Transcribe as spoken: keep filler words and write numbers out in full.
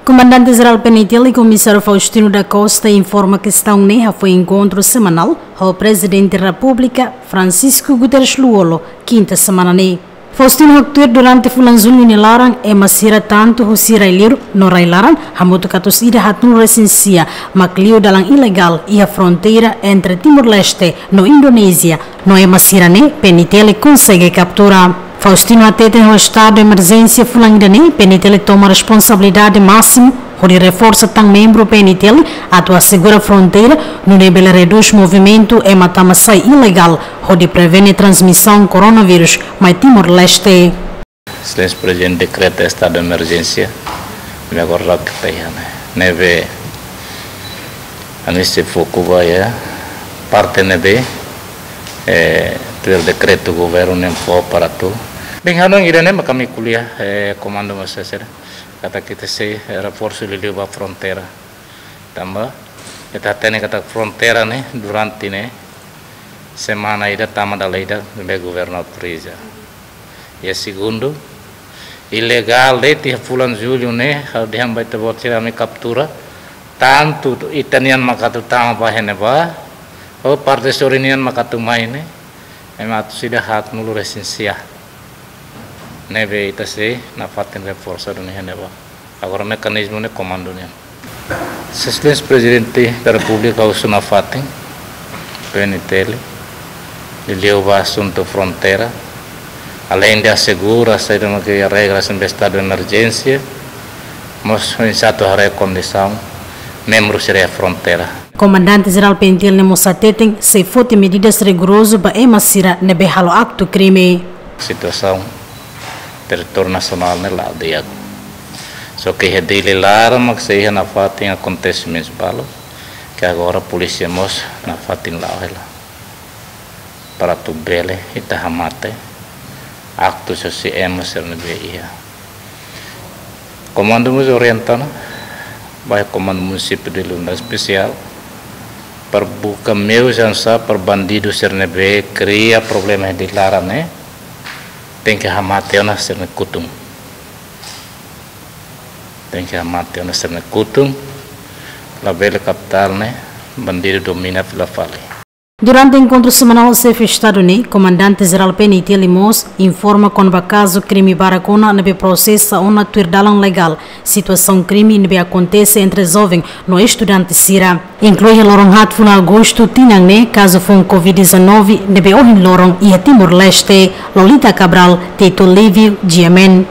Komandante Jerál P N I T L, Komisáriu Faustino da Costa, informa kestaun ne'e hafoin enkontru semanál ho Prezidente Repúblika, Francisco Guterres Lú-Olo, kinta semana ne'e. Faustino haktuir durante fulan Jullu nia laran, ema sira tantu husi rai-liur no rai-laran hamutuk atus ida haatnulu resin sia mak liu dalan ilegál iha fronteira entre Timor-Leste no Indonézia, no ema sira-ne'e P N I T L konsege kaptura. Faustino hateten ho estadu emerjénsia fulan ida-ne'e, P N I T L toma responsabilidade másimu hodi reforsa tan membru P N I T L atu asegura fronteira, nune'e bele redús movimentu ema tama sai ilegál, hodi prevene transmisaun koronavírus mai Timor-Leste. Exelénsia Prezidente dekreta estadu emerjénsia, ne'e agora rak taihan. Ne'ebé ami sei foku ba iha parte ne'ebé, eh, tuir dekretu governu nian fó para atu. Bem, hanoin ida-ne'e mak ami ko'alia, eh, komandu mós sira, katak ita sei, eh, reforsu liuliu ba fronteira. Tanba ita hatene katak fronteira ne'e durante ne'e semana ida tama dala ida ne'ebé governu autoriza. Iha segundu, ilegál de'it iha fulan Jullu ne'e, ha'u dehan ba ita-boot sira, ami kaptura, tantu ita-nian mak atu tama ba iha ne'ebá, ou parte sorin nian mak atu mai ne'e, ema atus ida haatnulu resin sia. Ne'ebé ita sei nafatin reforsa duni iha ne'ebá. Agora mekanizmu ne'e komandu nian. Exelénsia Prezidente da Repúblika husu nafatin P N I T L, liuliu ba asuntu fronteira, aleinde asegura saida mak regras ne'ebé estadu emerjénsia, mós oinsá atu haree kondisaun membru sira iha fronteira. Komandante Jerál P N I T L ne'e mós hateten sei foti medidas rigorozu ba ema sira ne'ebé halo aktu krime. Situasaun territóriu nasionál ne'e la'o di'ak. Só ke iha Dili laran mak sei iha nafatin akontesimentu balu, ke agora polísia mós nafatin la'o hela. Para atu bele ita hamate aktu husi ema sira ne'ebé iha. Komandu mós orienta ona ba Komandu Munisípiu Dili Unidade Espesiál para buka meius oinsá para bandidu sira ne'ebé kria problema iha Dili laran ne'e, tenke hamate ona sira-nia kutun. Tenke hamate ona sira-nia kutun, labele kapital ne'e bandidu domina fila fali. Durante enkontru semanál ho Xefe Estadu ne'e, Komandante Jerál P N I T L mós informa kona-ba kazu krime barak ona ne'ebé prosesa ona tuir dalan legál, situasaun krime ne'ebé akontese entre joven no estudante sira, inklui iha loron haat fulan Agostu tinan ne'e, kazu foun covid dezanove ne'ebé ohin loron iha Timor-Leste. Lolita Cabral, Tito Livio, G M N.